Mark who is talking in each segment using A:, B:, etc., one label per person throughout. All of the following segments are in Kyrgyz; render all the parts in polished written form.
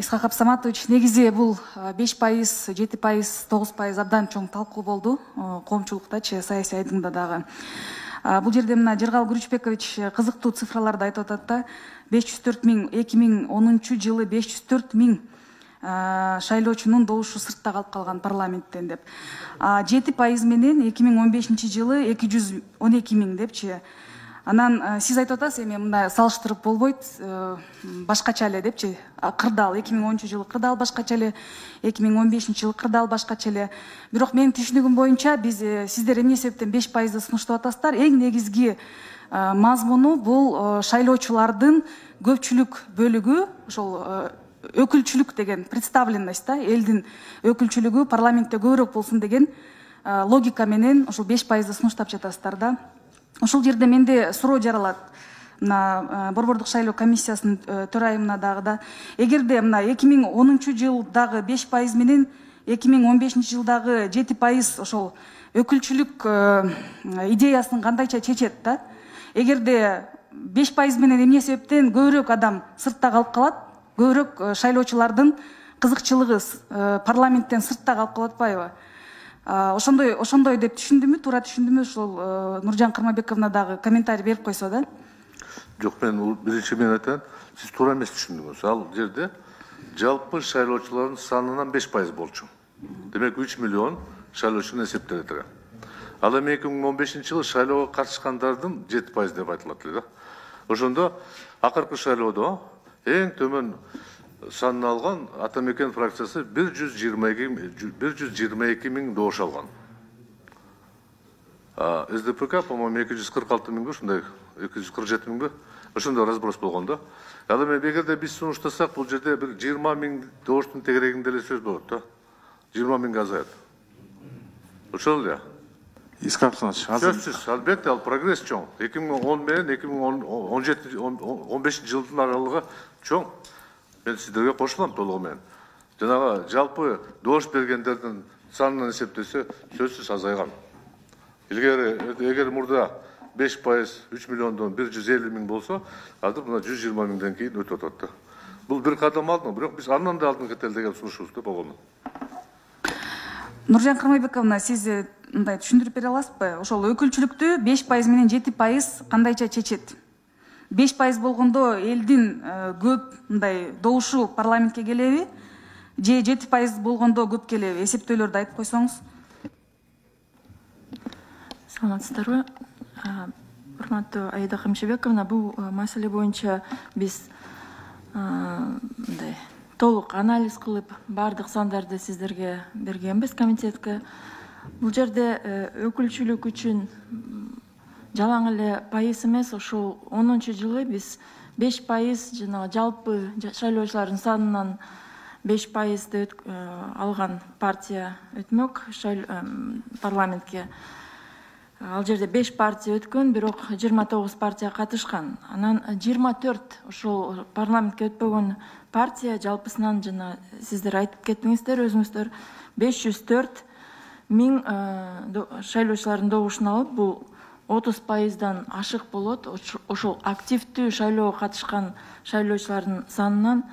A: Исхак Абсаматович, негизи бул 5%, 7%, 9% абдан чоң талкуу болду коомчулуктачы, саясий айдыңда дагы. Бул жерде мына Жыргал Күрүчбекович кызыктуу цифраларды айтып атат да, 504 миң, 2010 жылы 504 миң шайлоочунун добушу сыртта калып калган парламенттен деп. 7% менен 2015 жылы 212 миң депчи. Анан сиз айтып атасыз, эми мындай салыштырып болбойт, башкача эле депчи. Кырдаал 2010 жылы кырдаал башкача эле, 2015 жылы кырдаал башкача эле. Бирок менин түшүнүгүм боюнча биз сиздер эмне себептен 5%ды сунуштап атасыздар? Эң негизги мазмуну бул шайлоочулардын көпчүлүк бөлүгү, ошол өкүлчүлүк деген представленность да, элдин өкүлчүлүгү парламентте көбүрөөк болсун деген логика менен ошол 5%ды сунуштап жатасыздар да. Ошол жерде менде суроо жаралат. Мына Борбордук шайлоо комиссиясынын төрайымына дагы да. Эгерде мына 2010 жылдагы 5% менен 2015 жылдагы 7% ошол өкүлчүлүк идеясын кандайча чечет да. Эгерде 5% менен эмне себептен көбүрөөк адам сыртта калып калат, көбүрөөк шайлоочулардын кызыкчылыгы парламенттен сыртта калып калып атпайбы? Ошондой деп түшүндүмү, туура түшүндүмү? Ошол Нуржан Кырмабековна дагы комментарий берип койсо да.
B: Жок, мен биринчи мен айтайын, сиз туура эмес түшүндүңүз. Ал жерде жалпы шайлоочулардын санынан 5% болчу. Демек 3 миллион шайлоочуну эсептелет экен. Ал эми 2015 жылы шайлоого катышкандардын 7% деп айтылат эле да. Ошондо акыркы шайлоодо эң төмөн санын алган Ата Мекен фракциясы 122 миң добуш алган. СДПК, по-моему, 246 миңби, ушундай 247 миңби, ошондой разброс болгон да. Ал эми эгерде биз сунуштасак, бул жерде бир 20 миң добуштун тегерегинде эле сөз болот да. 20 миңге азаят. Ошол эле.
C: Исхак Абсаматович, азыр
B: сөзсүз, албетте ал прогресс чоң. 2010 менен 2015 жылдын аралыгы чоң. Мен сиздерге кошулам толугу менен. Жанагы жалпы добуш бергендердин санын эсептесе сөзсүз азайган. Эгер мурда 5%, 3 миллиондон 150 миң болсо, азыр мына 120 миңден кийин өтүп атат да. Бул бир кадам алдын, бирок биз андан да алдын кетели деген сунушубузда болгону.
A: Нуржан Кырмайбековна, сиз мындай түшүндүрүп бере аласызбы? Ошол өкүлчүлүктү 5% менен 7% кандайча чечет? 5% болгондо элдин көп мындай добушу парламентке келеби? Же 7% болгондо көп келеби? Эсептөөлөрдү айтып койсоңуз.
D: Саламатсыздарбы? Урматтуу Аида Камшыбековна, бул маселе боюнча биз мындай толук анализ кылып, бардык сандарды сиздерге бергенбиз комитетке. Бул жерде өкүлчүлүк үчүн жалаң эле пайыз эмес, ошол 10 жылы биз 5% жана жалпы шайлоочулардын санынан 5%ды алган партия өтмөк парламентке. Ал жерде 5 партия өткөн, бирок 29 партия катышкан. Анан 24 ошол парламентке өтпөгөн партия жалпысынан жана сиздер айтып кеттиңиздер өзүңүздөр 504 миң шайлоочулардын добушун алып, бул 30%дан ашык болот. Ошол активдүү шайлоого катышкан шайлоочулардын санынан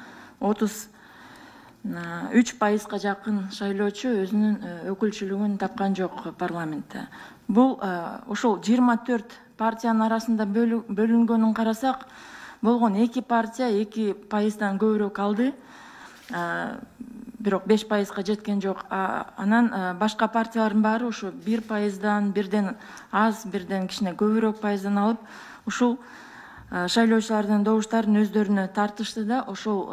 D: 33%га жакын шайлоочу өзүнүн өкүлчүлүгүн тапкан жок парламентте. Бул ошол 24 партиянын арасында бөлүнгөнүн карасак, болгон 2 партия 2%дан көбүрөөк алды. Бирок 5%га жеткен жок. Анан башка партиялардын баары ошо 1%дан, бирден аз, бирден кичине көбүрөөк пайыздан алып, ушул шайлоочулардын добуштарын өздөрүнө тартышты да. Ошол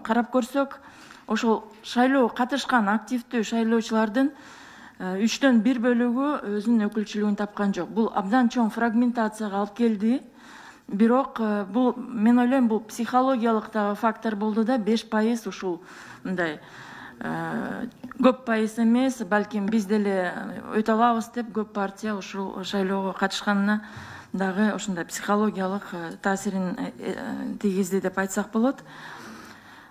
D: карап көрсөк, ошол шайлоого катышкан активдүү шайлоочулардын 3төн 1 бөлүгү өзүнүн өкүлчүлүгүн тапкан жок. Бул абдан чоң фрагментацияга алып келди. Бирок бул, мен ойлойм, бул психологиялык дагы фактор болду да. 5% ушул мындай көп пайыз эмес, балким биз деле өтө алабыз деп көп партия ушул шайлоого катышканына дагы ошондой психологиялык таасирин тийгизди деп айтсак болот.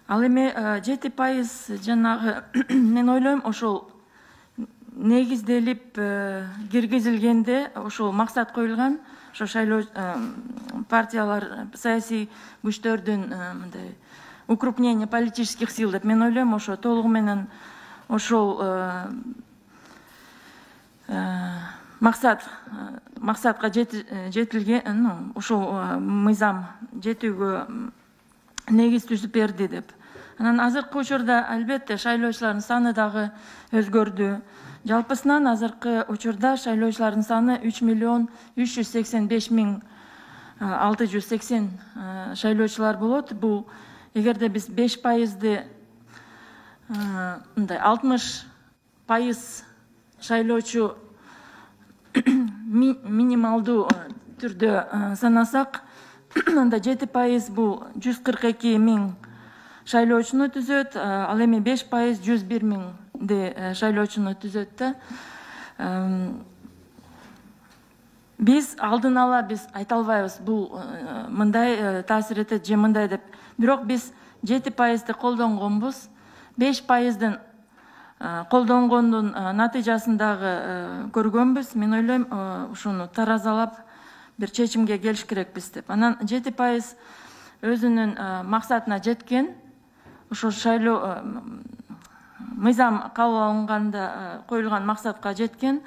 D: Ал эми 7% жанагы мен ойлойм, ошол негизделип киргизилгенде, ошол максат коюлган, ошо шайлоо партиялар, саясий күчтөрдүн мындай укрупнение политических сил деп мен ойлойм. Ошо толугу менен ошол максатка жетилген, ошол мыйзам жетүүгө негиз түзүп берди деп. Анан азыркы учурда албетте шайлоочулардын саны дагы өзгөрдү. Жалпысынан азыркы учурда шайлоочулардын саны 3.385.680 шайлоочулар болот. Бул эгерде биз 5%, мындай 60% шайлоочу минималдуу түрдө санасак, анда 7% бул 142.000 шайлоочуну түзөт, ал эми 5% 101.000 шайлоочуну түзөт да. Биз алдын ала биз айта албайбыз бул мындай таасир этет же мындай деп. Бирок биз 7%-ды колдонгонбуз. 5%-дын колдонгондун натыйжасын дагы көргөнбүз. Мен ойлойм, ушуну таразалап бир чечимге келиш керекпиз деп. Анан 7% өзүнүн максатына жеткен. Ошо шайлоо мыйзам кабыл алынганда коюлган максатка жеткен.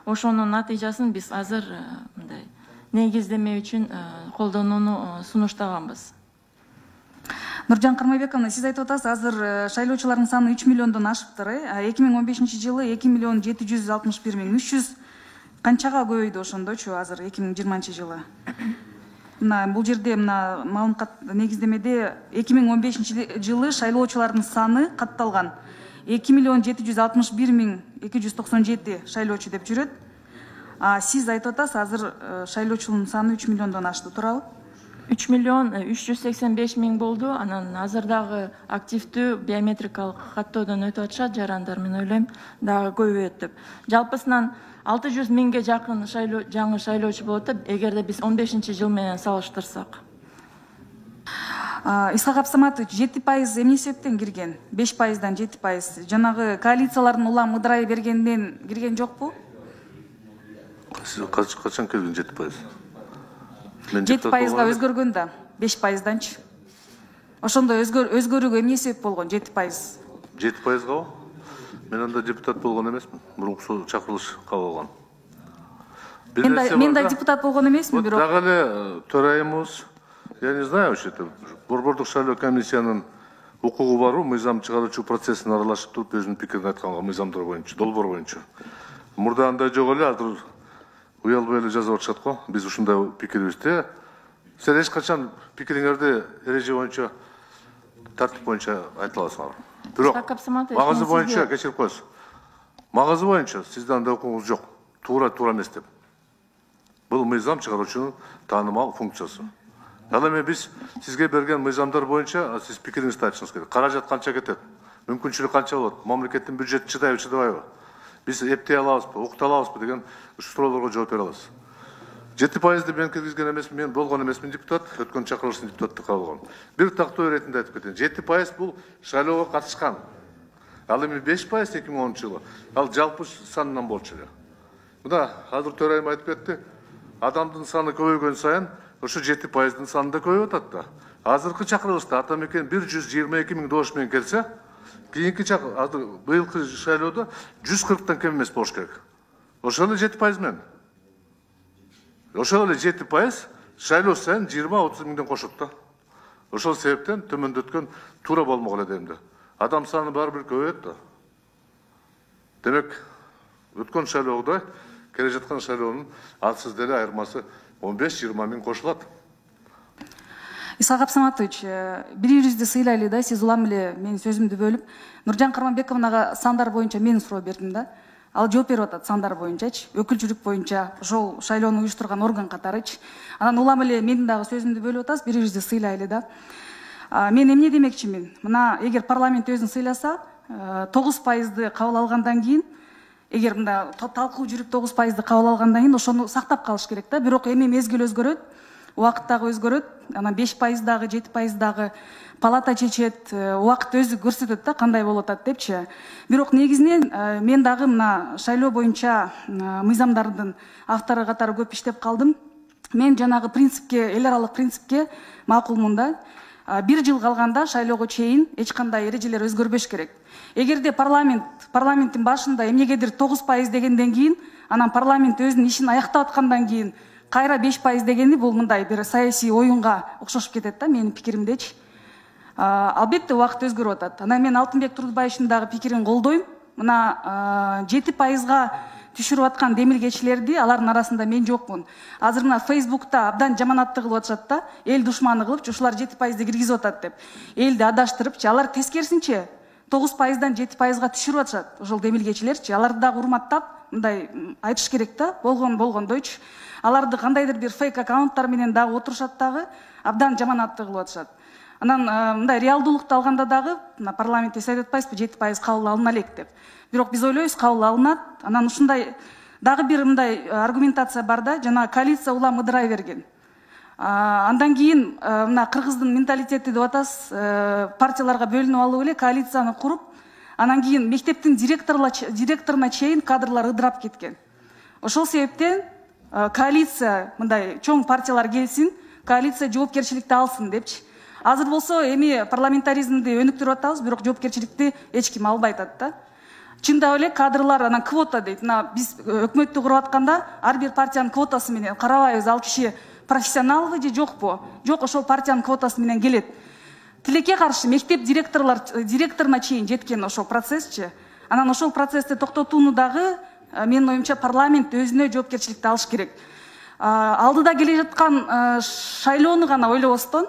D: Ошонун натыйжасын биз азыр мындай негиздеме үчүн колдонууну сунуштаганбыз.
A: Нуржан Кармайбековна, сиз айтып атасыз, азыр шайлоочулардын саны 3 миллиондон ашыптыр. 2015-жылы 2.761.300 канчага көбөйдү ошондочу азыр 2020-жылы? Мына бул жерде мына маалымат негиздемеде 2015-жылы шайлоочулардын саны катталган 2.761.297 шайлоочу деп жүрөт. Сиз айтып атасыз, азыр шайлоочунун саны 3 миллиондон ашты, туурабы?
D: 3.385.000 болду. Анан азырдагы активдүү биометрикалык каттоодон өтүп атышат жарандар, мен ойлойм, дагы көбөйөт деп. Жалпысынан 600.000ге жакын жаңы шайлоочу болот, эгерде биз 15-жыл менен салыштырсак.
A: Исхак Абсаматович, 7% эмне себептен кирген? 5%дан 7%. Жанагы коалициялардын улам ыдырай бергенден кирген жокпу?
B: Качан кирген 7%?
A: 7%га өзгөргөн да, 5%данчы. Ошондо өзгөрүүгө эмне себеп болгон 7%?
B: 7%га? Мен анда депутат болгон эмесмин. Мурунку чакырылыш кабыл алган.
A: Мен да депутат болгон эмесмин, бирок
B: дагы эле төрайымыбыз, я не знаю, вообще борбордук шайлоо комиссиянын укугу барбы, мыйзам чыгаруучу процессине аралашып туруп өзүнүн пикирин айтканга, мыйзамдар боюнча, долбоор боюнча. Мурда андай жок эле, азыр уялбай эле жазып атышат го. Биз ушундай пикирибизди. Сен эч качан пикириңерди эреже боюнча, тартип боюнча айта аласыңар. Бирок магазы боюнча кечирип коесуз. Магазы боюнча сизде андай укугуңуз жок. Туура эмес деп. Бул мыйзам чыгаруучунун таанымал функциясы. Ал эми биз сизге берген мыйзамдар боюнча сиз пикириңизди айтышыңыз керек. Каражат канча кетет? Мүмкүнчүлүк канча болот? Мамлекеттин бюджети чыдайбы, чыдабайбы? Биз эптей алабызбы, укута алабызбы деген суроолорго жооп бере аласыз. 7%-ды мен киргизген эмесмин, мен болгон эмесмин депутат, өткөн чакырылыштын депутаттык кабыл. Бир тактоо иретинде айтып кетейин. 7% бул шайлоого катышкан. Ал эми 5% 2010-жылы. Ал жалпы санынан болчу эле. Мына азыр төрайым айтып кетти. Адамдын саны көбөйгөн сайын ошо 7%дын саны да көбөйүп атат да. Азыркы чакырылышта атамекен 122.000 добуш менен келсе, кийинки азыр быйылкы шайлоодо 140тан кем эмес болуш керек. Ошол эле 7% менен. Ошол эле 7% шайлоо сайын 20-30 миңден кошот да. Ошол себептен төмөндөткөн туура болмок эле дейм да. Адам саны баары бир көбөйөт да. Демек, өткөн шайлоодой келе жаткан шайлоонун атсыз деле айырмасы 15-20 миң кошулат.
A: Исхак Абсаматович, бири-бирибизди сыйлайлы да, сиз улам эле менин сөзүмдү бөлүп, Нуржан Карманбековнага сандар боюнча мен суроо бердим да. Ал жооп берип атат сандар боюнчачы, өкүлчүлүк боюнча, ошол шайлоону уюштурган орган катарычы. Анан улам эле менин дагы сөзүмдү бөлүп атасыз, бири-бирибизди сыйлайлы да. Мен эмне демекчимин? Мына эгер парламент өзүн сыйласа, 9%ды кабыл алгандан кийин, эгер мында талкуу жүрүп 9%ды кабыл алгандан кийин ошону сактап калыш керек да. Бирок эми мезгил өзгөрөт, убакыт дагы өзгөрөт. Анан 5% дагы, 7% дагы палата чечет, убакыт өзү көрсөтөт да кандай болуп атат депчи. Бирок негизинен мен дагы мына шайлоо боюнча мыйзамдардын автору катары көп иштеп калдым. Мен жанагы принципке, эл аралык принципке макулмун да. 1 жыл калганда шайлоого чейин эч кандай эрежелер өзгөрбөш керек. Эгерде парламенттин башында эмнегедир 9% дегенден кийин, анан парламент өзүнүн ишин аяктап аткандан кийин кайра 5% дегени бул мындай бир саясий оюнга окшошуп кетет да, менин пикиримдечи. Албетте убакыт өзгөрүп атат. Анан мен Алтынбек Турдубаевдин дагы пикирин колдойм. Мына 7%га түшүрүп аткан демилгечилерди, алардын арасында мен жокмун. Азыр мына Facebook'та абдан жаманаттык кылып атышат да, эл душманы кылып, ушулар 7%ди киргизип атат деп. Элди адаштырыпчы, алар тескерисинче 9%дан 7%га түшүрүп атышат. Ошол демилгечилерчи, аларды дагы урматтап, мындай айтыш керек да, болгондойчу. Аларды кандайдыр бир фейк аккаунттар менен дагы отурушат дагы, абдан жаманаттык кылып атышат. Анан мындай реалдуулукту алганда дагы парламентте эс айтып атпайсызбы, 7% кабыл алына элек деп. Бирок биз ойлойбуз, кабыл алынат. Анан ушундай дагы бир мындай аргументация бар да, жана коалиция улам ыдырай берген. Андан кийин мына кыргыздын менталитети деп атасыз, партияларга бөлүнүп алып эле коалицияны куруп, анан кийин мектептин директоруна чейин кадрлар ыдырап кеткен. Ошол себептен коалиция мындай чоң партиялар келсин, коалиция жоопкерчиликти алсын депчи. Азыр болсо эми парламентаризмди өнүктүрүп атабыз, бирок жоопкерчиликти эч ким албай атат да. Чындап эле кадрлар анан квота дейт. Мына биз өкмөттү куруп атканда ар бир партиянын квотасы менен карабайбыз, ал киши профессионалбы же жокпу? Жок, ошол партиянын квотасы менен келет. Тилекке каршы мектеп директоруна чейин жеткен ошол процессчи. Анан ошол процессти токтотууну дагы менин оюмча парламент өзүнө жоопкерчиликти алыш керек. Алдыда келе жаткан шайлоону гана ойлобостон,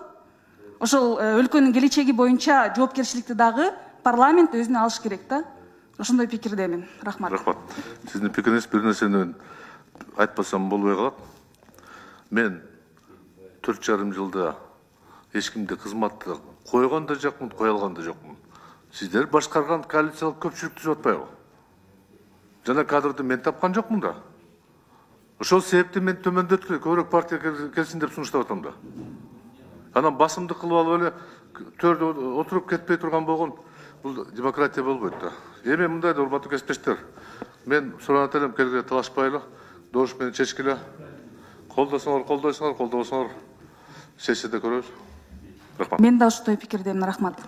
A: ошол өлкөнүн келечеги боюнча жоопкерчиликти дагы парламент өзүнө алыш керек да. Ошондой пикирдемин. Рахмат.
B: Рахмат. Сиздин пикириңиз бир нерсени айтпасам болбой калат. Мен 4,5 жылда эч кимди кызматты койгон да жокмун, кое алган да жокмун. Сиздер башкарган коалициялык көпчүлүк түзүп атпайбы? Жана кадрды мен тапкан жокмун да. Ошол себептен мен төмөндөткүлө көбүрөөк партия келсин деп сунуштап атам да. Анан басымдык кылып алып эле төрдө отуруп кетпей турган болгон бул демократия болбойт да. Эми мындай да, урматтуу кесиптештер, мен суранат элем, келгиле талашпайлы, добуш менен чечкиле. Колдосоңор колдойсуңар, колдобосоңор сессияда көрөбүз. Рахмат.
A: Мен да ошондой пикирдемин. Рахмат.